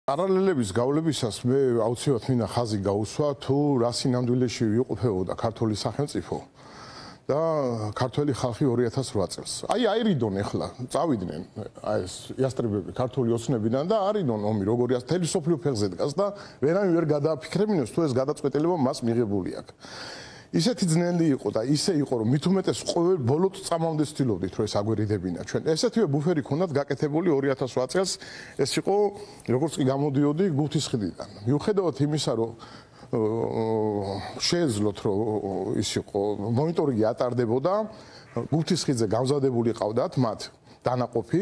Paralelების გავლებისას მე აუცილებლად მინდა ხაზი გაუსვა თუ რა სინამდვილეში ვიყოფებოდა ქართული სახელმწიფო და ქართველი ხალხი 2008 წელს. აი აირიდონ ახლა წავიდნენ აი ეს იასტრებები ქართული ოცნებიდან და არიდონ ომი როგორი თელი სოფლიო ფეხზე დგას და ვერავინ ვერ გადააფიქრებინოს თუ ეს გადაწყვეტილება მას მიღებული აქვს. ისეთი ძნელი იყო და ისე იყო რომ მით უმეტეს ყოველ ბოლოდ წამამდე ცდილობდით რომ ეს აგვერიდებინა ჩვენ. ესეთივე ბუფერი ქონდათ გაკეთებული 2008 წელს ეს იყო როგორც კი გამოდიოდი გუთისხლიდან. მიუხედავად იმისა რომ შეეძლოთ რომ ის იყო მონიტორინგი ატარდებოდა გუთისხლზე გამზადებული ყავდათ მათ დანაყოფი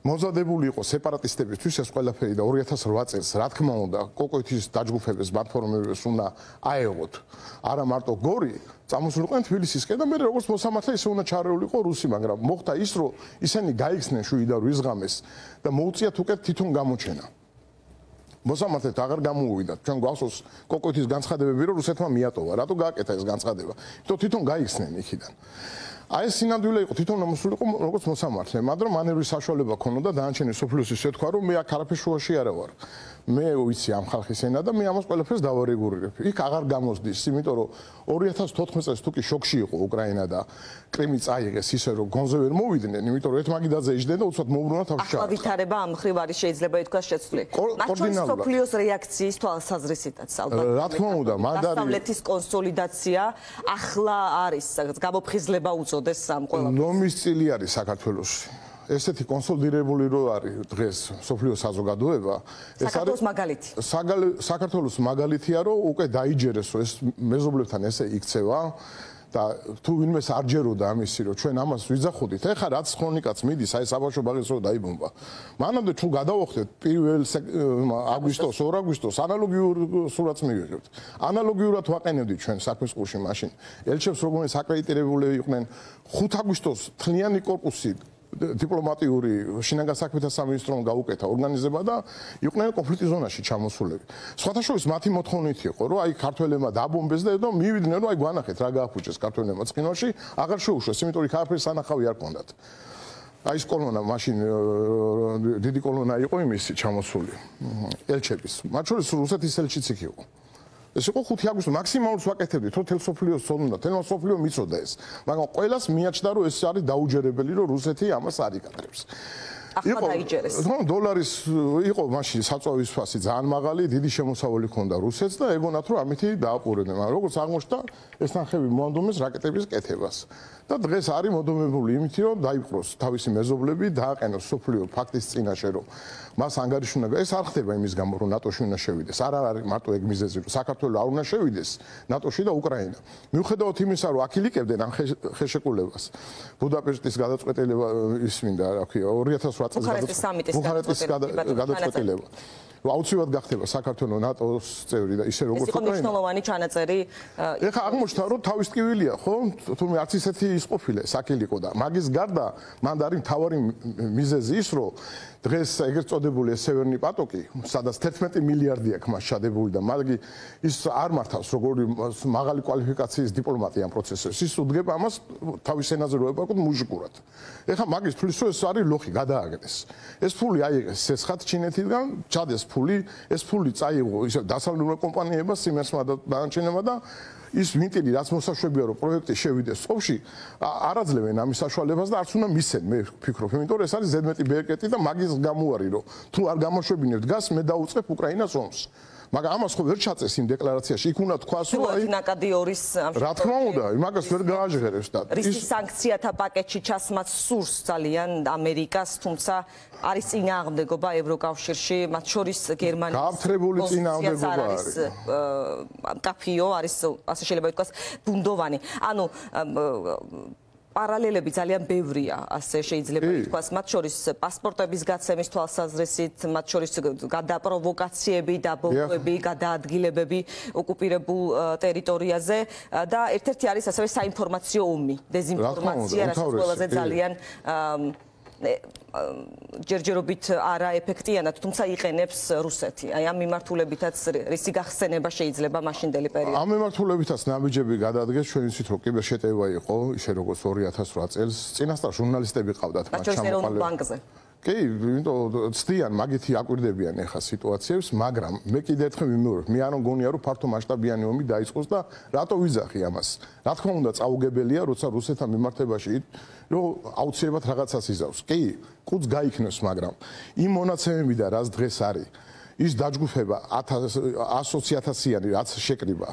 მოზადებული იყო სეპარატისტებისთვის ეს ყველაფერი და 2008 წელს რა თქმა უნდა კოკოეთის დაჯგუფების პლატფორმებს უნდა აეღოთ არა მარტო გორი წამოსულიყვნენ თბილისისკენ და მე როგორც მოსამართლე ისე უნდა ჩარეულიყო რუსი მაგრამ მოხდა ის რომ ისინი გაიქცნენ შვილი და რიზღამეს და მოუწიათ უკეთ თვითონ გამოჩენა მოსამართლედ აღარ გამოუვიდა ჩვენ გვახსოვს კოკოეთის განცხადებები რომ რუსეთმა მიატოვა რატო გააკეთა ეს განცხადება იმიტომ თვითონ გაიქცნენ იქიდან აი ეს სინამდვილე იყო თვითონ მოსულიყო როგორც მოსამართლე მაგრამ მანევრის საშუალება ქონოდა დანარჩენი სოფლიოს ისე თქვა რომ მე აქ არაფერ შუაში არა ვარ მე ვიცი ამ ხალხის ენა და მე ამას ყველაფერს დავარეგულირებ იქ აღარ გამოსდის იმიტომ რომ 2014 წელს თუკი შოკში იყო უკრაინა და კრიმი წაიღეს ისე რომ გონზე ვერ მოვიდნენ იმიტომ რომ ერთმაგიდაძე იჯდნენ და უცბად მოუბრუნა თავში ჩაახლა ახლა ვითარება ამ მხრივ არის შეიძლება ითქვას შეცვლილი მაგრამ სოფლიოს რეაქციის თვალსაზრისითაც ალბათ რა თქმა უნდა დასავლეთის კონსოლიდაცია ახლა არის გამოფხიზლება უწოდეს ამ ყველაფერს ნომის წილი არის საქართველოში ესეთი კონსოლიდირებული რო არის დღეს სოფლიოს საზოგადოება ეს არის მაგალითი საქართველოს მაგალითია რომ უკვე დაიჯერეს რომ ეს მეზობლებთან ესე იქცევა და თუ ვინმეს არ ჯეროდა ამისი რომ ჩვენ ამას ვიძახოდით ეხლა რაც ქრონიკაც მიდის აი საბავშვო ბაღის რო დაიბომბა მანამდე თუ გადავახდეთ 1 აგვისტოს 2 აგვისტოს ანალოგიურ სურათს მივიღებთ ანალოგიურად ვაყენებდით ჩვენ საქმის ყურში მაშინ ელჩებს როგორც აკრედიტირებულები იყვნენ 5 აგვისტოს თლიანი კორპუსი დიპლომატიური შინაგან საქმეთა სამინისტრომ გაუკეთა ორგანიზება და იყვნენ კონფლიქტის ზონაში ჩამოსულები. სხვათა შორის მათი მოთხოვნით იყო, რომ აი ქართველებმა დაბომბეს და მივიდნენ, რომ აი გვანახეთ რა გააფუჭეს ქართველებმა ცხინვალში, აღარ შეუშვეს, იმიტომ რომ ქაფრის სანახავი არ კონდათ. აი ეს კოლონა მაშინ დიდი კოლონა იყო იმისი ჩამოსული ელჩების. მათ შორის რუსეთის ელჩიც იქ იყო. ეს იყო 5 აგვისტო მაქსიმალურს ვაკეთებდით რომ თელ სოფლიოს ცოდნა თელ სოფლიო მიწოდა ეს მაგრამ ყველას მიაჩნდა რომ ეს არის დაუჯერებელი რომ რუსეთი ამას არ იკადრებს ახლა დაიჯერეს დოლარის იყო მაშინ საწვავის ფასი ძალიან მაღალი დიდი შემოსავალი ჰქონდა რუსეთს და ეგონათ რომ ამითი დააყურებდნენ მაგრამ როგორც აღმოჩნდა ეს ნახევი მოანდომეს რაკეტების კეთებას და დღეს არის მოდომებული იმითი რომ დაიპყროს თავისი მეზობლები დააყენოს სოფლიო ფაქტის წინაშე რომ მას ანგარიშუნა ეს არ ხდება იმის გამო რომ ნატოში უნდა შევიდეს არ არის მარტო ეგ მიზეზი რომ საქართველოს არ უნდა შევიდეს ნატოში და უკრაინა მიუხედავად იმისა რომ აქილიკებდნენ ამ ხელშეკრულებას ბუდაპეშტის გადაწყვეტილება ის მინდა რა ქვია 2008 წელს გადაწყვეტილება აუცილებლად გახდება საქართველოს ნატოს წევრი და ისე როგორც უკრაინა. ეს იყო მნიშვნელოვანი ჩანაწერი. ეხლა აღმოჩნდა რომ თავის ტკივილია, ხო? თუმცა არც ისეთი ის ყოფილა, საკილიკო და მაგის გარდა მან არის მთავარი მიზეზი ის, რომ დღეს ეგრეთ წოდებული სევერნი პატოკი, სადაც 11 მილიარდი აქვს მას ჩადებული და მაგი ის არ მართავს როგორი მაღალი კვალიფიკაციის დიპლომატია ამ პროცესში. ის უდგება ამას თავის ენაზე რო ებაკოთ მუჟიკურად. ეხლა მაგის თulis რომ ეს არის ლოხი გადააგდეს. ეს ფული აიღეს სესხად ჩინეთიდან, ჩადეს ეს ფული წაიღო ისე დასავლურ კომპანიებმა სიმესმა და დანარჩენებმა და ის ვინტილი რაც მოსაშვებია რომ პროექტი შევიდეს სოფში არაძლევენ ამის საშუალებას და არც უნდა მისცენ მე ვფიქრობ იმიტომ რომ ეს არის ზედმეტი ბერკეტი და მაგის გამოარი რომ თუ არ გამოშვებინებთ გას მე დაუწყებ უკრაინას ომს მაგრამ ამას ხო ვერ ჩაწეს იმ დეკლარაციაში იქ უნდა თქვას რომ აი ნაკადი ორის რა თქმა უნდა იმაგას ვერ გააჟღერებს და ის სანქციათა პაკეტში ჩასმაც სურს ძალიან ამერიკას თუმცა არის წინააღმდეგობა ევროკავშირში მათ შორის გერმანიის გააფთრებული წინააღმდეგობა არის კაფიო არის ასე შეიძლება ითქვას ბუნდოვანი ანუ პარალელები ძალიან ბევრია, ასე შეიძლება ითქვას, მათ შორის პასპორტების გაცემის თვალსაზრისით, მათ შორის გადაპროვოკაციები, დაბომბვები, გადაადგილებები ოკუპირებულ ტერიტორიაზე და ერთ-ერთი არის ასევე საინფორმაციო ომი, დეზინფორმაცია, რაც ყველაზე ძალიან ჯერჯერობით არაეფექტიანად, თუმცა იყენებს რუსეთი. აი ამ მიმართულებითაც რისი გახსენება შეიძლება მაშინდელი პერიოდში. ამ მიმართულებითაც ნაბიჯები გადადგეს, ჩვენ ვიცით რომ კიბერშეტევა იყო, ისე როგორც 2008 წელს. წინასწარ ჟურნალისტები ყავდათ მათ ჩამოყალიბებული ბანკზე. კი, იმიტომ ცდიან მაგითი აკვირდებიან ახლა სიტუაციებს, მაგრამ მე კიდე ერთხელ ვიმეორებ, მე არ მგონია რომ ფართო მასშტაბიანი ომი დაიწყოს და რატო ვიძახი ამას? რა თქმა უნდა, წაუგებელია, როცა რუსეთთან მიმართებაში რომ აუცილებლად რაღაცას იზავს. კი, კუც გაიქნოს, მაგრამ იმ მონაცემებიდან რაც დღეს არის ის დაჯგუფება 100-120-იანი რაც შეკრიბა.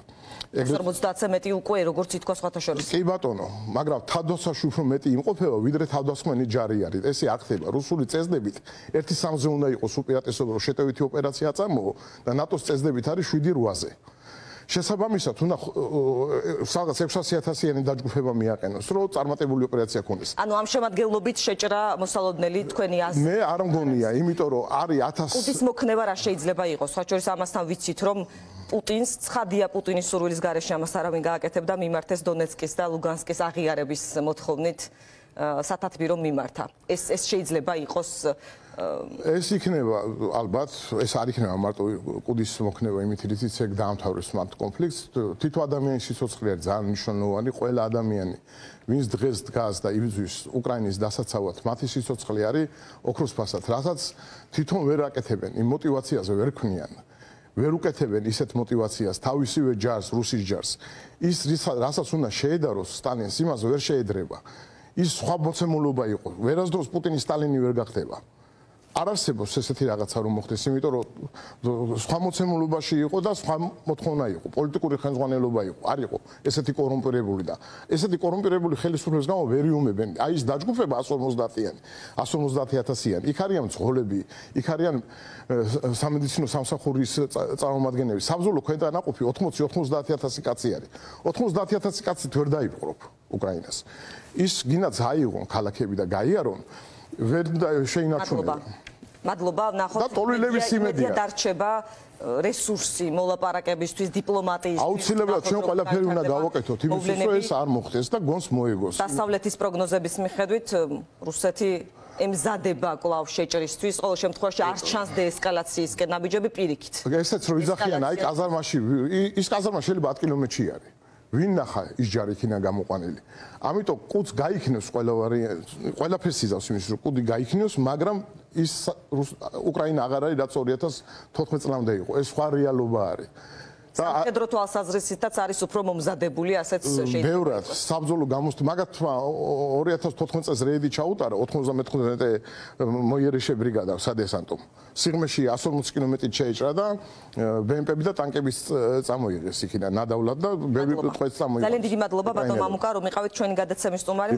50-ზე მეტი უკვე როგორც ითქვა სხვათა შორის. კი ბატონო, მაგრამ თავდასხმაში უფრო მეტი იმყოფება, ვიდრე თავდასხმენი ჯარი არის. ესე არ ხდება. რუსული წესდებით 1-3-ზე უნდა იყოს უპირატესობა, რომ შეტევითი ოპერაცია წამოო და ნატოს წესდებით არის 7-8-ზე. შესაბამისად, უნდა რაღაც 600-1,000-იანი დაჯგუფება მიაყენოს, რომ წარმატებული ოპერაცია ქონდეს. ანუ ამ შემადგენლობით შეჭრა მოსალოდნელი თქვენი აზრი. მე არ მგონია, იმიტომ რომ არის 1000 კუდის მოქნება რა შეიძლება იყოს? სხვა შორის ამასთან ვიცით, რომ პუტინს ცხადია პუტინის სურვილის გარეშე ამას არავინ გააკეთებდა, მიმართეს დონეცკის და ლუგანსკის აღიარების მოთხოვნით სათათბირო მიმართა. ეს შეიძლება იყოს ეს იქნება ალბათ ეს არ იქნება მარტო კუდის მოქნება იმით რითიც ეგ დაამთავრებს მათ კონფლიქტს თითო ადამიანის სიცოცხლე არის ძალიან მნიშვნელოვანი ყველა ადამიანი ვინც დღეს დგას და იბრძვის უკრაინის დასაცავად მათი სიცოცხლე არის ოქროს ფასად რასაც თვითონ ვერ აკეთებენ იმ мотиваციაზე ვერ ქმნიან ვერ უკეთებენ ისეთ мотиваციას თავისივე ჯარს რუსის ჯარს ის რასაც უნდა შეედაროს სტალინს იმას ვერ შეედრება ის სხვა მოცემულობა იყო ვერასდროს პუტინი სტალინი ვერ გახდება არ არსებობს ესეთი რაღაცა რომ მოხდეს, იმიტომ რომ სხვა მოცემულობაში იყო და სხვა მოთხოვნა იყო, პოლიტიკური ხელმძღვანელობა იყო, არ იყო ესეთი კორუმპირებული და ესეთი კორუმპირებული ხელისუფლების გამო ვერ იუმებენ. აი ეს დაჯგუფება 150-იანი, 150,000-იანი. იქ არიან მძღოლები, იქ არიან სამედიცინო სამსახურის წარმომადგენლები. საბრძოლო ქვედანაყოფი 80-90,000 კაცი არის. 90,000 კაცით ვერ დაიპყრობ უკრაინას. ის გინდათ აიღონ ქალაქები და გაიარონ ვერ შეინარჩუნებენ. მადლობა, ნახოთ. და ტოლვილების იმედია დარჩება რესურსი მოლაპარაკებისთვის, დიპლომატიისთვის. აუცილებლად ჩვენ ყველაფერი უნდა გავაკეთოთ იმისთვის, რომ ეს არ მოხდეს და გონს მოეგოს. დასავლეთის პროგნოზების მიხედვით რუსეთი ემზადება კვლავ შეჭრისთვის, ყოველ შემთხვევაში არ ჩანს დეესკალაციისკენ ნაბიჯები პირიქით. ესეც რო ვიძახიან, აი კაზარმაში, ის კაზარმა შეიძლება 10 კილომეტრში არის. ვინ ნახა ის ჯარი იქნა გამოყვანილი. ამიტომ კუდს გაიქნევს ყველაფერს იზავს იმის რომ კუდი გაიქნევს, მაგრამ ის უკრაინა აღარ არის რაც 2014 წლამდე იყო. ეს სხვა რეალობა არის. სამხედრო თვალსაზრისითაც არის უფრო მომზადებული, ასეც შეიძლება. ბევრად საბრძოლო გამოსთ, მაგათმა 2014 წელს რეიდი ჩაუტარა 95 მოიერიშე ბრიგადა სადესანტომ. სიღმეში 140 კილომეტრით შეიჭრა და ბემპები და ტანკების წამოიღეს იქიდან ნადავლად და ბევრი ტყვეც წამოიღეს. ძალიან დიდი მადლობა ბატონ მამუკა, რომ იყავით ჩვენი გადაცემის სტუმარი.